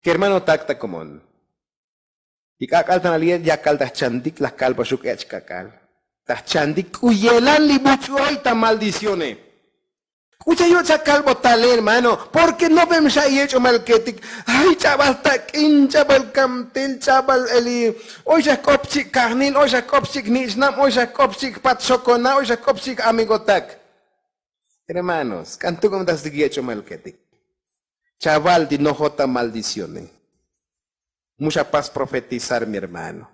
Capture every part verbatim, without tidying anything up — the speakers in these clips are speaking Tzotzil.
Kermano tak ta komon, li k'ak'al ta nali'e' yakal ta jchantik laj kalbaxuk ech' k'ak'al. Ta jchantik k'u yelan li buch'u oy ta maldicione. K'u cha yoch' akalbotale hermano, porke nopem xa yech'omalketik. Ay ch'abal tak'in, ch'abal kamtel, ch'abal eli, oy xa jk'op chik' kajnil, oy xa jk'op chik' jnich'nab, oy xa jk'op chik' jpat xokona, oy xa jk'op chik' amigotak. Hermanos, k'an tuk'um ta stik yech'omalketik. Chaval ti nojot ta maldicione. Mu xa pas profetizar mi hermano.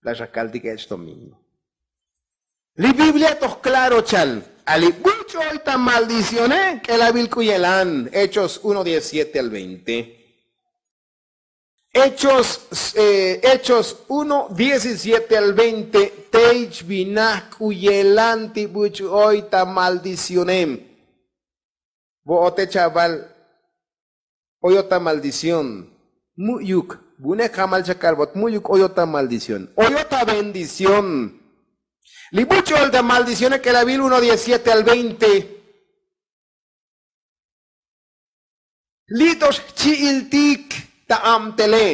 La xa kaltik ech' domingo. Li biblia toj klaro chal. Ali buch'u oy ta maldicione k'elabil k'u yelan. Hechos uno diecisiete al veinte. Hechos, hechos uno diecisiete al veinte. Tey chvinaj k'u yelan ti buch'u oy ta maldicionem. Vo'ote chaval, oyot ta maldición. Mu'yuk. Vu'une jamal chakalbot mu'yuk oyot ta maldición, oyot ta bendición. Li buch'u oy ta maldicione k'elabil uno diecisiete al veinte. Li to xchi'iltik ta abtele.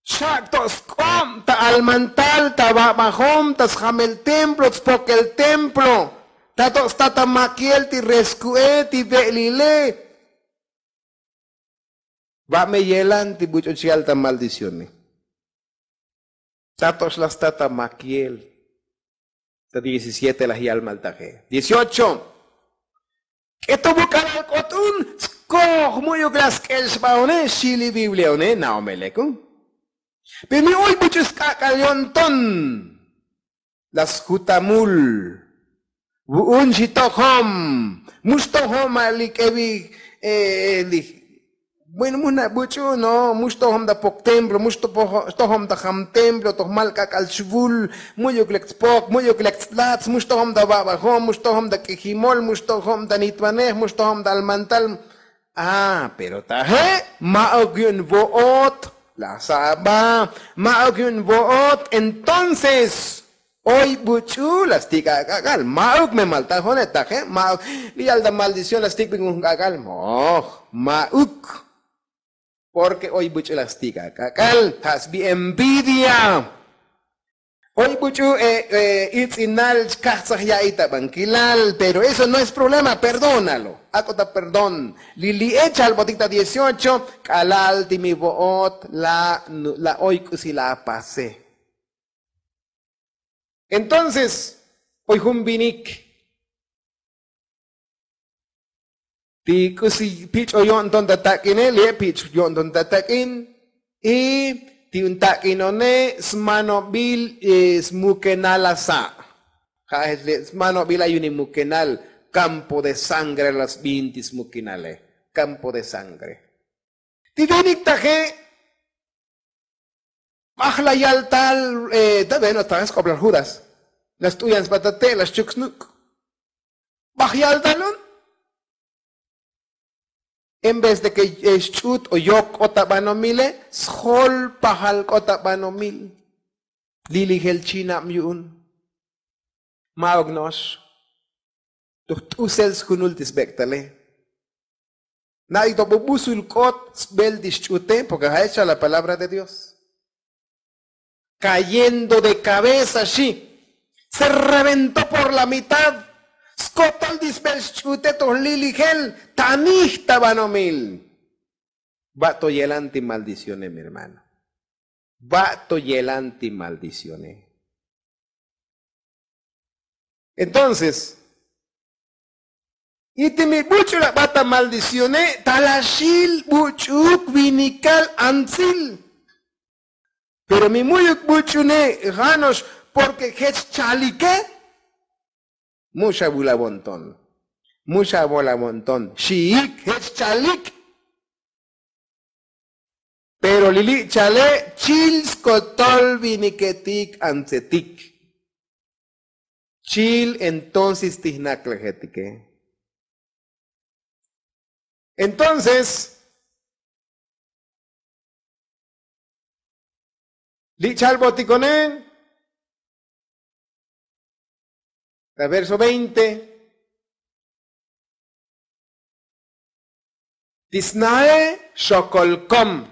Xak' to sk'ob ta almantal ta vabajom ta sjamel templo tspokel templo. Ta to sta ta makiel ti resku'e ti ve'lile. Va'me yelan ti buch'u chal ta maldicione. Ta to xlaj sta ta makiel. Ta diecisiete laj yal maltaje dieciocho. K'eto vuk'alal k'ot un tskoj mu'yuk laj sk'el xbaone xi li biblia one na'omelek un. Pero mi oy buch'u sk'ak'al yo'nton. Laj sjutamul. Vu'un xi tojom. Mu xtojom ma' li k'evi li bueno mu na' buch'u no mu xtojom ta pok templo mu xtojom ta jam templo toj mal k'ak'al chvul. Mu'yuk lek tspok mu'yuk lek tslatz mu xtojom ta vabajom mu xtojom ta k'ijimol mu xtojom ta nitvanej mu xtojom ta almantal. Ah pero taje' ma'uk yu'un vo'ot. La saba ma'uk yu'un vo'ot entonces. Oy buch'u la stik' ak'ak'al ma'uk me maltajone taje' ma'uk. Li yal ta maldición la stik'bik jun k'ak'al moj. Ma'uk. Porke oy buch'u la stik' ak'ak'al ja' sbi envidia. Oy buch'u itz'inal chkajtzaj ya'i ta bankilal pero eso no es problema perdónalo. Ak'o ta perdón. Li li'e chalbotik ta dieciocho k'alal ti mi vo'ot la oy k'usi la pase. Entonces oy jun vinik ti k'usi pich'o yo'nton ta tak'ine li'e pich' yo'nton ta tak'in. Y ti un tak'inone smanobil smukenal la sa'. Ja' jech li' smanobil ay un imukenal. Kampo de sangre la sbin ti smukenale. Kampo de sangre. Ti vinik taje' baj la yal tal. Ta bueno ta sk'oblal judas la st'uyan sba ta te' la xchuk snuk'. Baj yal tal un. En vez de ke xch'ut o yok k'ot ta banomile sjol pajal k'ot ta banomil. Lilijel chinab yu'un. Ma'uk no'ox. Toj t'usel sjunul ti sbek'tale. Na'ik to bubusul k'ot sbel ti xch'ute porke ja' echal la palabra de dios. Kayendo de kabeza xi se reventó por la mitad. Skotol ti sbel xch'ute toj lilijel tanij ta banomil. Ba' to yelan ti maldicionem hermano. Ba' to yelan ti maldicione. Entonces y ti mi buch'u la ba' ta maldicione ta la xil buch'uk vinikal antsil. Pero mi mu'yuk buch'une jano'ox porke jech chalike. Mu xa vulavonton. Mu xa volavonton xiik jech chalik. Pero li li' chale chil skotol viniketik antsetik. Chil entonces ti jnaklejetike. Entonces li' chalbotikone ta verso veinte. Ti snae xokol kom.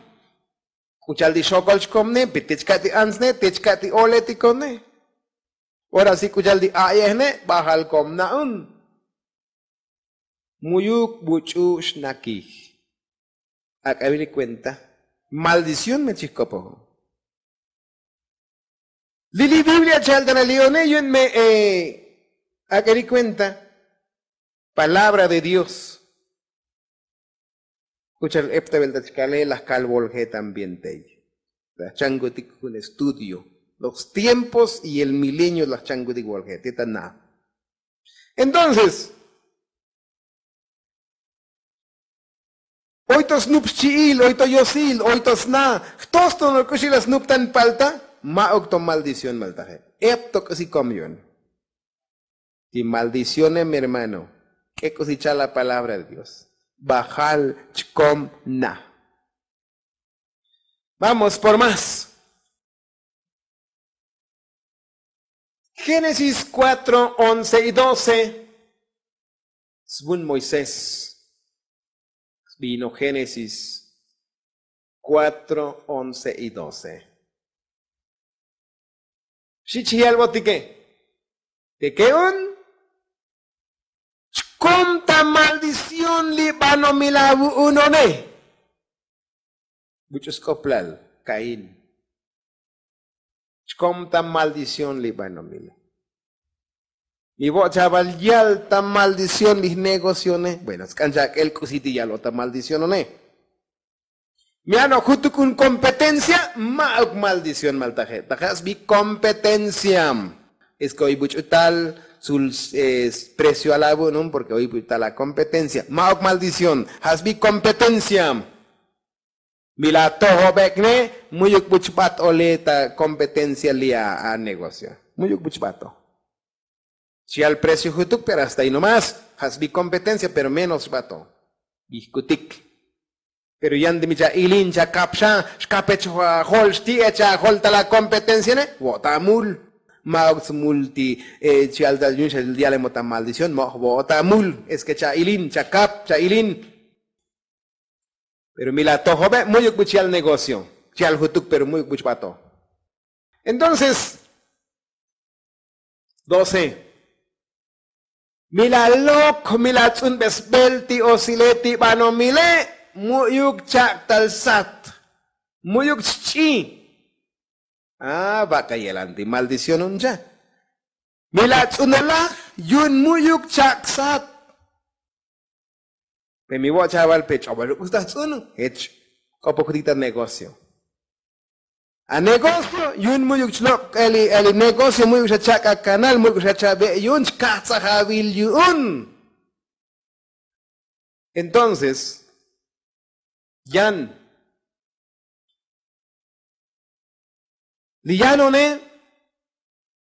K'u cha'al ti xokol chkomne pi ti chka' ti antsne ti chka' ti oletikone. Ora si k'u cha'al ti a'yejne bajal kom na'un. Mu'yuk buch'u xnakij. Ak'a vini kuenta maldición me chijk'opojo. Li li biblia cha'al ta na li'one yu'un me. Ak'a vini kuenta palabra de dios. K'u cha'al eptavel ta chkale laj kal volje también tey. Laj chankutik jun estudio los tiempos y el milenio laj chankutik volje ti ta na. Entonces oy to snup xchi'il oy to yosil oy to sna jtos to nok'uxil la snup tan palta. Ma'uk to maldición maltaje ep to k'usi kom yu'un. Ti maldicione mi hermano k'e k'usi cha'al la palabra de dios. Bajal chkom na. Vamos por más. Génesis cuatro once y doce. Svun moisés. Svino génesis cuatro once y doce. Xich yalbotike. Tike'un chkom ta maldición li banomil avu'unone. Buch'u sk'oplal kaín. Chkom ta maldición li banomile. Mi vo' chaval yal ta maldición li jnegocione bueno sk'an chak'el k'usi ti yal o ta maldicionone. Mi ano' jutuk un kompetencia. Ma'uk maldición maltaje' taje' sbi kompetencia. Es ke oy buch'u tal sul precio alavu'nun porke oy buch'u tal akompetencia ma'uk maldición. Ja' sbi kompetencia. Mi la tojobekne mu'yuk buch b'at ole ta kompetencia li' a negocio. Mu'yuk buch b'ato. Chi al precio jutuk pero hasta ay nomás. Ja' sbi kompetencia pero menos xb'ato. Bijkutik. Pero yan ti mi cha ilin cha kap xa xkapech ajol xti'ech ajol ta la kompetenciane. Vo'ta amul. Ma'uk smul ti chi al ta yu'un xa yalemo ta maldición mo'j vo'ta amul. Es ke cha ilin cha kap cha ilin. Pero mi la tojobe' mu'yuk buch yal negocio. Chi al jutuk pero mu'yuk buch b'ato. Entonces doce. Mi la lok mi la tz'unbesbel ti osile ti banomile. Mu'yuk chak'tal sat. Mu'yuk chch'i. A vak'a yelan ti maldición un cha. Mi la tz'unelaj yu'un mu'yuk chak' sat. Pe mi vo' chaval pe ch'obaluk usta jtz'un jech. K'opokutik ta negocio. A negocio yu'un mu'yuk chlok' eli negocio mu'yuk xa chak' akanal mu'yuk xa chabe' yu'un chkajtzajavil yu'un. Entonces yan li yanone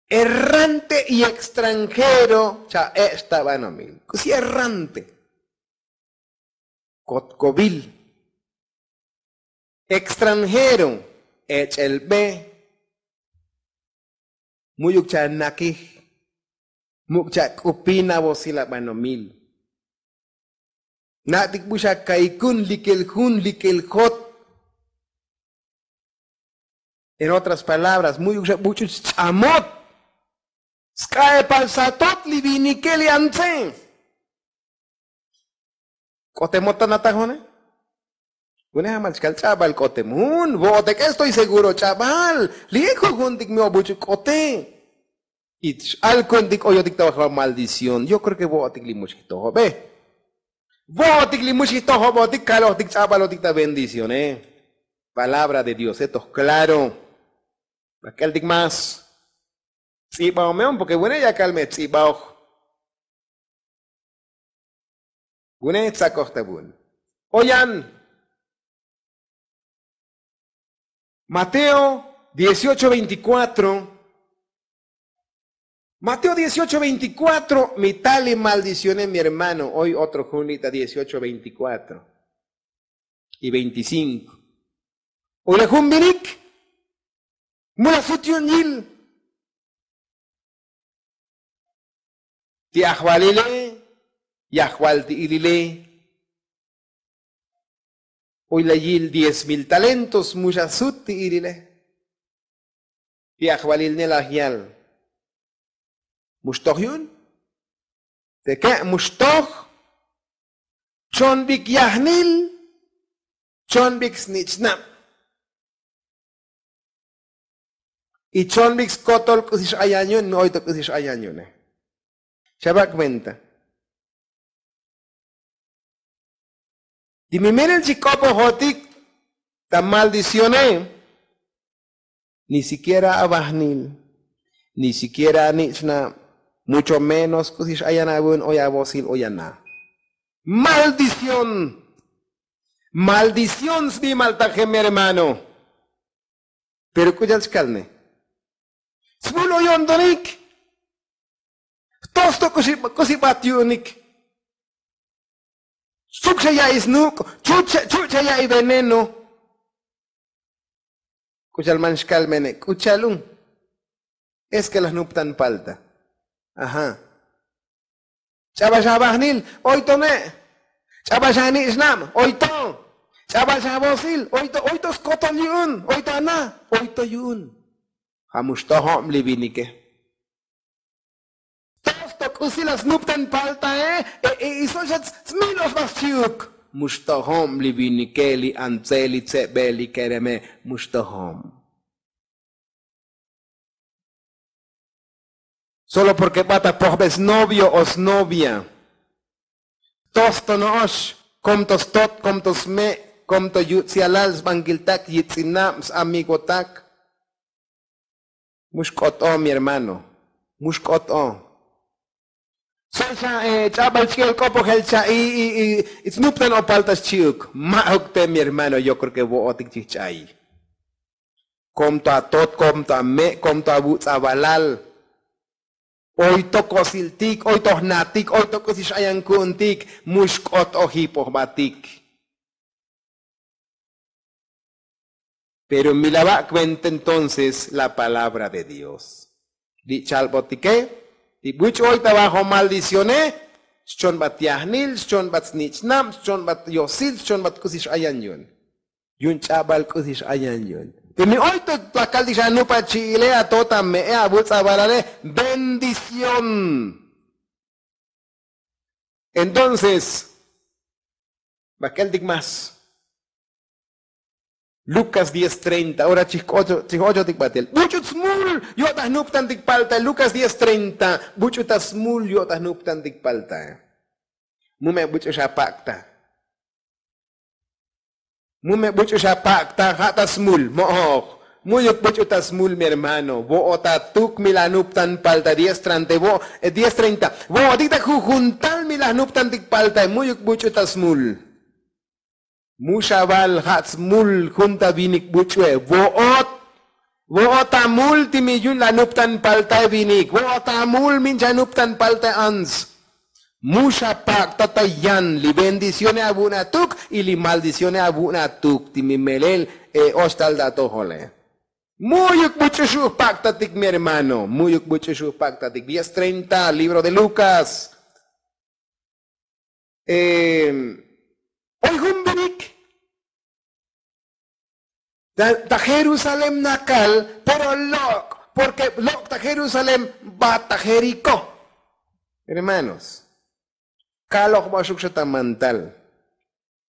errante y extranjero cha ech' ta banomil k'usi errante. Kotkovil extranjero ech'el be. Mu'yuk cha nakij muk' cha k'upin avosil abanomil. Na'tik bu xa kaikun likel jun likel jot. En otras palabras mu'yuk xa buch'uch ch'amot. Sk'a'epal satot li vinike li antse. K'otemot ta natajone. Une jamal chkal ch'abal k'otem jun vo'otek'e estoy seguro ch'abal. Li'e jujuntik mi obuch'u k'ote. Y x'alkuentik oyotik ta bajba maldición yo kreo ke vo'otik li muxijtojobe. Vo'otik li muxijtojobotik kalojtik ch'abalotik ta bendicione. Palabra de diose toj klaro. Bak'eltik más. Tz'ibaomeon porke vune' yakal me tz'ibaoj. Vune' tzakoj ta vun. Oyan mateo dieciocho veinticuatro. Mateo dieciocho veinticuatro mi tal li maldiciones mi hermano oy otro jun li' ta dieciocho veinticuatro y veinticinko. Ule jun vinik mula sut yu'un yil. Ti ajvalile yajval ti ilile. Oy la yil diez mil talentos mu xa sut ti ilile. Ti ajvalil ne laj yal. Mu xtoj yu'un. Teke' mu xtoj. Chon bik yajnil. Chon bik snich'nab. Y chon bik skotol k'usi x'ayan yu'un mi oy to k'usi x'ayan yu'une. Xabak' venta. Ti mi melel chik'opojotik ta maldicione. Ni sikiera avajnil. Ni sikiera anich'nab. Mucho menos k'usi x'ayan avun oy avosil oy ana. Maldición. Maldición sbimaltaje mi hermano. Pero k'u cha'al chkalne. Smul oy yo'ntonik. Jtos to k'usi bat yu'unik. Suk xa ya'i snuk'. Chuch' chuch' xa ya'i veneno. K'u cha'al man xkalmene k'u cha'al un. Es ke laj nuptan palta. Ajá. Ch'abal xa avajnil. Oy to me'. Ch'abal xa anich'nab. Oy to. Ch'abal xa avosil. Oy to oy to skotol yu'un. Oy to ana. Oy to yu'un. Ja' mu xtojob li vinike. Tos to k'usi la snuptan paltae. Y so' xa smil ox ba xchi'uk. Mu xtojob li vinike li antse li tsebe li kereme. Mu xtojob. Solo porke bat apojbe snovio o snovia. Tos to no'ox. Kom to stot kom to sme'. Kom to yuts'yalal sbankiltak yitz'inab samigotak. Mu xk'ot'o mi hermano. Mu xk'ot'o. Soy xa ch'abal ch'i'el k'opojel cha'i. Snuptan o palta xchi'uk ma'uk te mi hermano yo kreo ke vo'otik chij ch'a'i. Kom to atot kom to ame' kom to avuts' avalal. Oy to kosiltik oy to jnatik oy to k'usi x'ayan ku'untik. Mu xk'ot ojipojbatik. Pero mi la va' kuenta entonces la palabra de dios. Li' chalbotike li buch'u oy ta bajo maldicione. Xchonbat yajnil xchonbat snich'nab xchonbat yosil xchonbat k'usi x'ayan yu'un. Yu'un ch'abal k'usi x'ayan yu'un. Te mi oy to ta kaltik xa anupa chi'ile ato ta me'e avuts' avalale. Bendición. Entonces bak'eltik más. Lukas diez treinta ora chij ochotik batel buch'u ta smul. Yo' ta jnuptantik paltae lukas diez treinta. Buch'u ta smul yo' ta jnuptantik paltae. Mu me' buch'u xa pak'ta. Mu me buch'u xa pak'ta ja' ta smul mo'oj. Mu'yuk buch'u ta smul mi hermano vo'ot atuk mi la nuptan palta diez treinta vo'otik ta jujuntal mi la nuptantik paltae mu'yuk buch'u ta smul. Mu xa val ja' smul jun ta vinik buch'ue vo'ot. Vo'ot amul ti mi yu'un la nuptan paltae vinik vo'ot amul min cha nuptan paltae ants. Mu xa pak'ta ta yan li bendicione avu'un atuk y li maldicione avu'un atuk ti mi melel. Oxtal ta atojole. Mu'yuk buch'u xu' pak'tatik mi hermano mu'yuk buch'u xu' pak'tatik diez treinta libro de lukas. Oy jun vinik ta jerusalén nakal pero lok' porke lok' ta jerusalén bat ta jeriko. Hermanos, kaloj ba xuk xa ta mantal.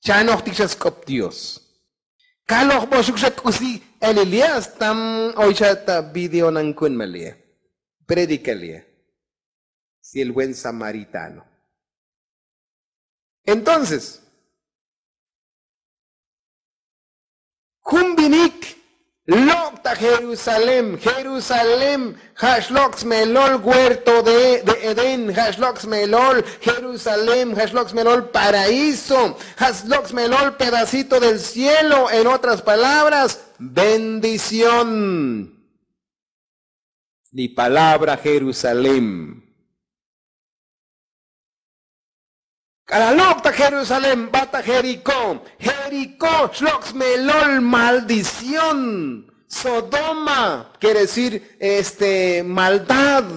Chanojtik xa sk'op dios. Kaloj ba xuk xa k'usi. Elilias tam oy xa ta video nankun malie predikalie. Si el buen samaritano. Entonces jun vinik lok' ta jerusalén jerusalén ja' xlok' smelol huerto de edén ja' xlok' smelol jerusalén ja' xlok' smelol paraíso ja' xlok' smelol pedacito del cielo en otras palabras bendición. Li palabra jerusalén. K'alal lok' ta jerusalén bat ta jeriko jeriko xlok' smelol maldición. Sodoma kere decir este maldad.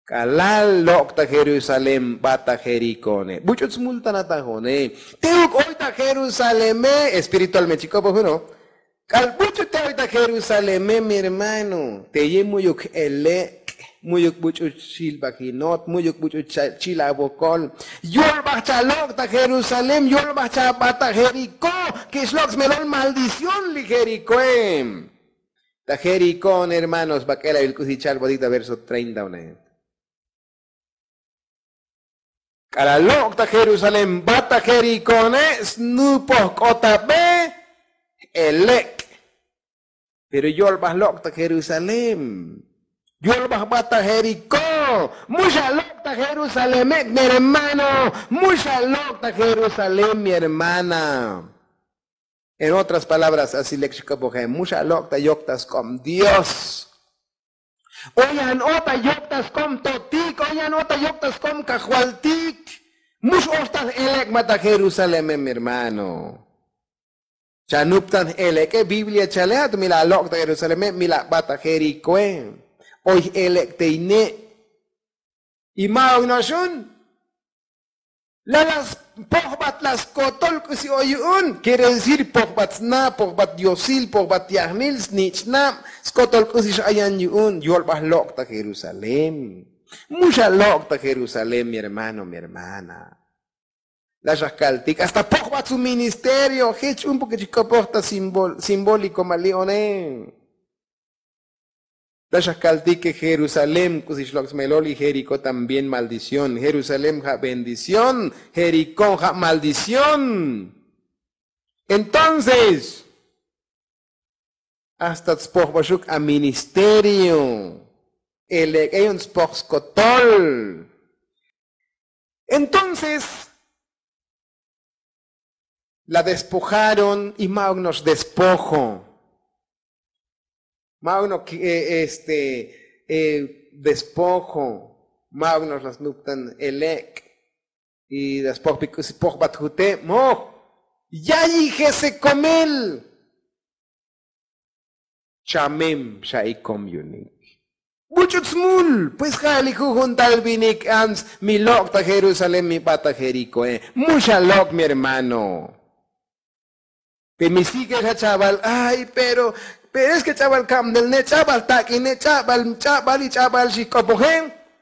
K'alal lok' ta jerusalén bat ta jerikone buch'ut smultanatajone. Teuk oy ta jerusaleme espiritualmente chik'opo juno. K'al buch'ut te oy ta jerusaleme mi hermano, teye mu'yuk j'elek', mu'yuk buch'ut xilbajinot, mu'yuk buch'ut chilabokol. Yolbaj chalok' ta jerusalén, yolbaj chabat ta jerikó. Kixlok' smelol maldición li jerikoe. Ta jerikón hermanos bak'elabil k'usi chalbotik ta verso treinta one. K'alal lok' ta jerusalén bat ta jerikone, snupoj k'otabe j'elek'. Pero yolbaj lok' ta jerusalén, yolbaj bat ta jerikó. Mu xalok' ta jerusaleme' mi hermano, mu xalok' ta jerusalén mi hermana. En otras palabras asi lek xk'opoje mu xalok' ta yok ta sk'ob dios. Oy an o ta yok ta sk'ob totik, oy an o ta yok ta sk'ob kajvaltik. Mu x'oxtaj j'elek' ma ta jerusaleme' mi hermano. Chanuptan j'elek'e biblia chale a' tu mi la lok' ta jerusaleme' mi la bat ta jerikoe. Oy j'elek' te ine'. Y ma'uk no'ox un. Lala pojbat la skotol k'usi oy yu'un. Kere decir pojbat sna, pojbat diosil, pojbat yajnil snich'nab, skotol k'usi x'ayan yu'un yolbaj lok' ta jerusalén. Mu xalok' ta jerusalén mi hermano mi hermana. La xajkaltik hasta pojbat su ministerio jech un porke chik'opoj ta simbóliko ma li'one. Ta xajkaltik ke jerusalén k'usi xlok' smelol y jerikó también maldición. Jerusalén ja' bendición, jerikó ja' maldición. Entonces hasta tspojbaxuk a ministerio. Elek'e yu'un tspoj skotol. Entonces la despojaron y ma'uk no'ox despojo. Ma'uk no'ox este despojo. Ma'uk no'ox la snuptan elek'. Y la spojbik k'usi pojbat jute' moj. Yayije sekomel. Chamem xa'ikom yu'unik. Buch'ut smul pues ja' li jujun tal vinik ants mi lok' ta jerusalén mi bat ta jerikoe. Mu xalok' mi hermano. Pe mi sigue xa chabal ay pero pero es ke ch'abal kabnel ne ch'abal tak'ine ch'abal ch'abal y ch'abal xijk'opoje.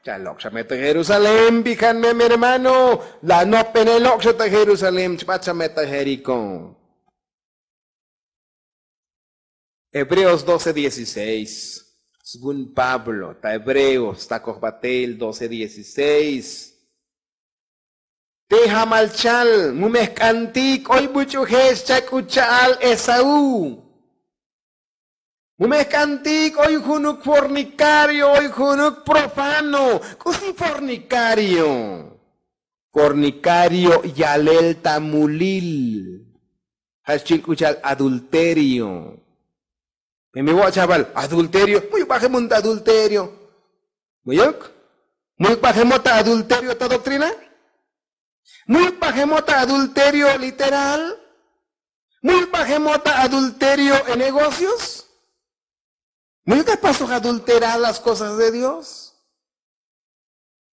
Chalok' xa me ta jerusalén bijan me mi hermano. La nopbenelok' xa ta jerusalén chbat xa me ta jerikó. Hebreos doce dieciséis. Svun pablo ta hebreos ta kojbatel doce dieciséis. Te jamal chal mu me jk'antik oy buch'uje' xchak'ut cha'al esaú. Mu me jk'antik oy junuk fornikario oy junuk profano. K'usi fornikario? Fornikario yalel ta mulil. Ja' xchil k'u cha'al adulterio. Pe mi wo' chabal adulterio mu'yuk bajemon ta adulterio. Mu'yuk mu'yuk bajemon ta adulterio ta doktrina. Mu'yuk bajemon ta adulterio literal. Mu'yuk bajemon ta adulterio en negocios. Mu'yuk apasoj adulteral las kosas de dios.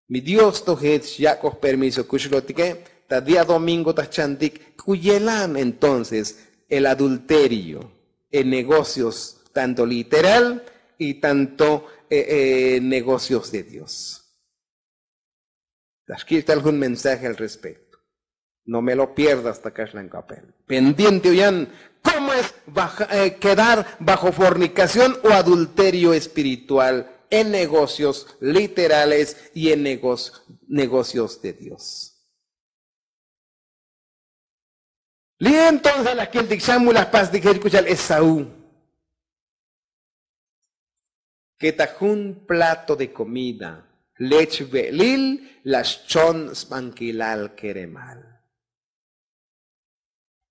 Mi dios to jech xyak'oj permiso kuxlotike ta día domingo ta jchantik k'u yelan entonces el adulterio en negocios tanto literal y tanto negocios de dios. Ta xkich' tal jun mensaje al respecto. No me lo pierdas ta kaxlan kapel pendiente oyan. Komo es kedar bajo fornikación o adulterio espiritual en negocios literales y en negocios de dios. Li' entonces laj kiltik xan mu laj pastik jech k'u cha'al esaú. Ke ta jun plato de komida lech ve'lil la xchon sbankilal keremal.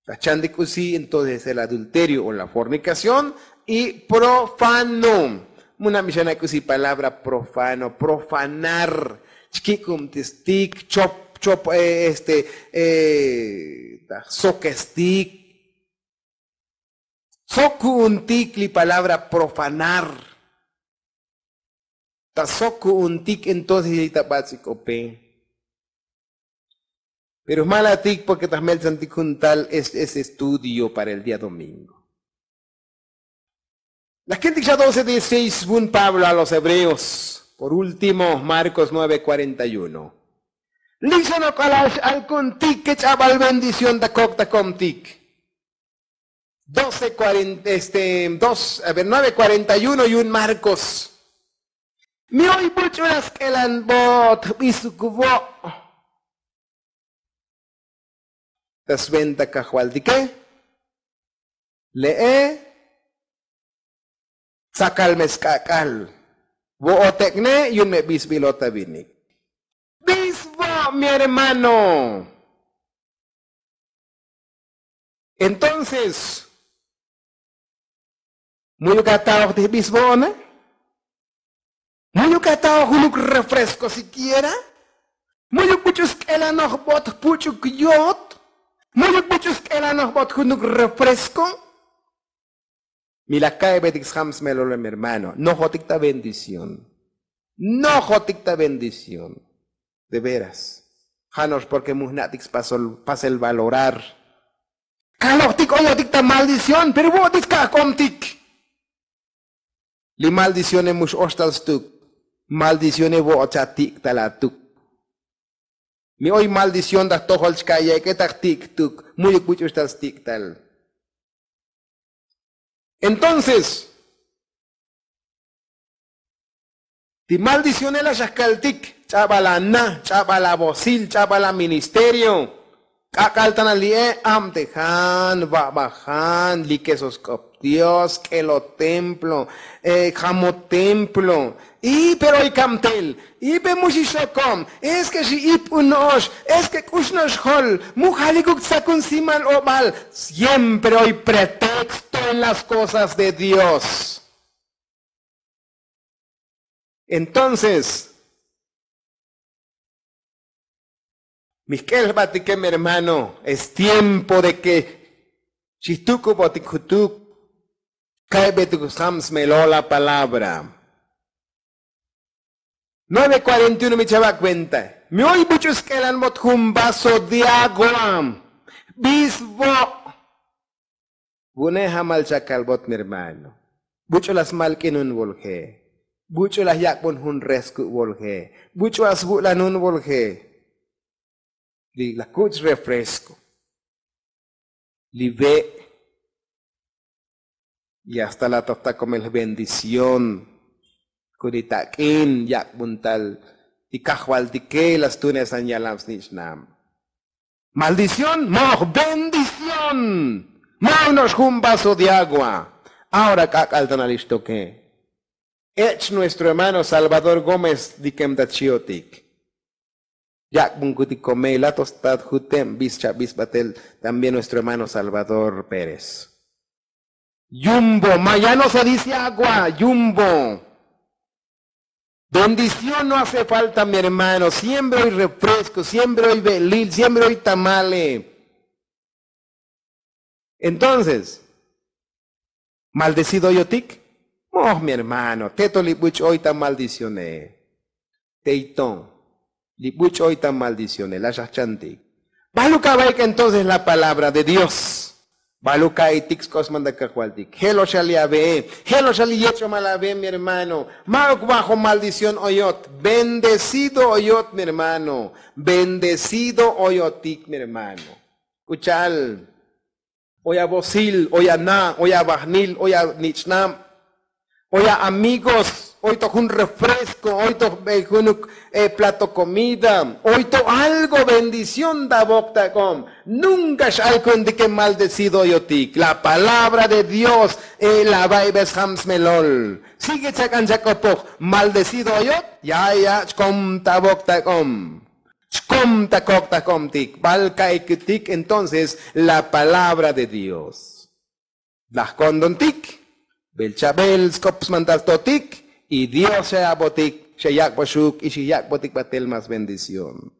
La chantik k'usi entonces el adulterio o la fornikación y profano. Mu nabixana k'usi palabra profano profanar. Chkik'ubtistik chop chop este ta jsokestik. Sok ku'untik li palabra profanar. Ta sok ku'untik entonces li ta bats'ik'ope. Pero jmalatik porke ta jmeltzantik jun tal es estudio para el día domingo. La kentik xa doce dieciséis vun pablo a los hebreos. Por último marcos nueve cuarenta y uno. Li' xa nok'alax alkuntik ke ch'abal bendición ta kok ta komtik. Doce cuarenta este dos a ver nueve cuarenta y uno yu'un marcos. Mi oy buch'u la sk'elanbot jbisuk vo'. Ta sventa kajvaltike le'e. Tzakal me sk'ak'al vo'otek'ne yu'un me bisbilot ta vinik. Bisbo' mi hermano. Entonces mu'yuk ataoj ti jbisbo'one? Mu'yuk ataoj junuk refresco sikiera? Mu'yuk buch'u sk'elanojbot jpuch'uk yot? Mu'yuk buch'u sk'elanojbot junuk refresco? Mi laj ka'ibetik sjam smelole mi hermano nojotik ta bendición. Nojotik ta bendición. De veras. Jano'ox porke mujna'tik spasol pasel valorar. Kalojtik oyotik ta maldición pero vo'otik ska'komtik. Li maldicione mu x'oxtal stuk. Maldicione vo'ot xa tik'tal atuk. Mi oy maldición ta jtojol chka' yek'e ta jtik'tuk. Mu'yuk buch'u xtal stik'tal. Entonces ti maldicionela xa jkaltik ch'abal ana ch'abal avosil ch'abal aministerio. K'ak'al tana li'e abtejan va'vajan likeso sk'op dios k'elo templo. Jamo templo. Y pero oy kabtel. Y pe mu xixokom. Es ke xi'ip uno'ox. Es ke k'ux no'ox jol. Mu jalikuk tzakun simal obal. Siempre oy pretexto en las kosas de dios. Entonces mi jk'el jbatike mi hermano es tiempo de ke xijtukubotik jutuk. Ka'ybetuk sjam smelo la palabra. Nueve kuarenta y uno mi chava' kuenta. Mi oy buch'u sk'elanbot jun vaso de agua. Bisbo'. Vu'une' jamal chakalbot mi hermano. Buch'u la smalk'inun volje. Buch'u la yak'bun jun resku' volje. Buch'u la svu'lanun volje. Li la kuch' refresco li ve'. Y hasta la toj takomel jbendición. Kuni tak'in yak'bun tal ti kajvaltike la stunesan yalam snich'nam. Maldición moj bendición. Moj no'ox jun vaso de agua. Ahora k'ak'al ta nalixtoke. Ech' nuestro hermano salvador gómez dikem ta chiotik. Yak'bunkutik komey la tostat juteb bis chabis batel. También nuestro hermano salvador pérez. Yumbo ma ya no se dice agua yumbo. Bendición no hace falta mi hermano siempre oy refresco siempre oy ve'lil siempre oy tamale. Entonces maldecido oyotik. Moj mi hermano teto li buch' oy ta maldicione. Tey to li buch' oy ta maldicione la xajchantik. Baluk abaik entonces la palabra de dios. Baluk ka'itik sk'osman ta kajvaltik jelo' xa li ave'e. Jelo' xa li yech'omal ave'e mi hermano. Ma'uk bajo maldición oyot. Bendecido oyot mi hermano. Bendecido oyotik mi hermano. K'u cha'al oy avosil oy ana' oy avajnil oy anich'nab. Oy a amigos oy to jun refresco oy to junuk plato komida oy to algo bendición ta avok ta k'om. Nunka x'alku'untike maldecido oyotik la palabra de dios. La va'ibes jam smelol. Sigue chak'an chak'opoj maldecido oyot. Ya ya chkom ta avok ta k'om. Chkom ta kok ta komtik bal ka'ikutik entonces la palabra de dios. Laj kondontik bel chabel sk'op smantal totik. Y dios xa yabotik xa yak'boxuk y xa yak'botik batel mas bendición.